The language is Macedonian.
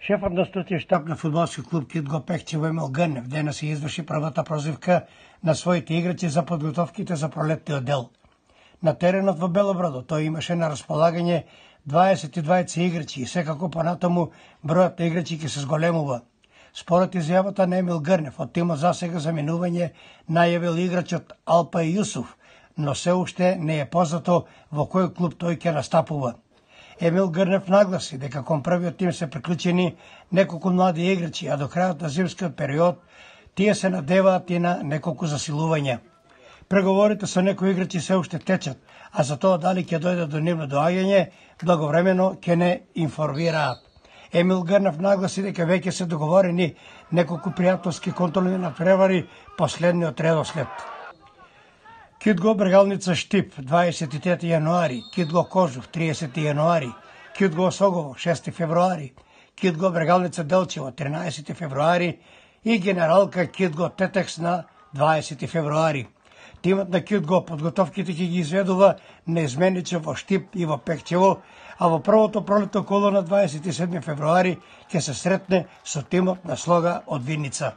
Шефот на stručni штаб на фудбалски клуб Кит го Пехчево Емил Грнев денес се изврши првата прозивка на своите играчи за подготовките за пролетниот дел. На теренот во Белобраду тој имаше на располагање 22 играчи и секако понатаму бројот на играчи ќе се зголемува. Според изјавата на Емил Грнев, од тимот засега за минување најавил играчот Алпај Јусуф, но се уште не е познато во кој клуб тој ќе настапува. Емил Грнев нагласи дека кон првиот тим се приклучени неколку млади играчи, а до крајот на зимскиот период тие се надеваат и на неколку засилувања. Преговорите со некои играчи се уште течат, а за тоа дали ќе дојдат до нивно доаѓање, благовремено ќе не информираат. Емил Грнев нагласи дека веќе се договорени неколку пријателски контролни надпревари последниот редослед. Китго Брегалница Штип 23 јануари, Китго Кожув 30 јануари, Китго Осогово 6 февруари, Китго Брегалница Делчево 13 февруари и генералка Китго Тетекс на 20 февруари. Тимот на Китго подготовките ќе ги изведува неизмениче во Штип и во Пехчево, а во првото пролетно коло на 27 февруари ќе се сретне со тимот на Слога од Виница.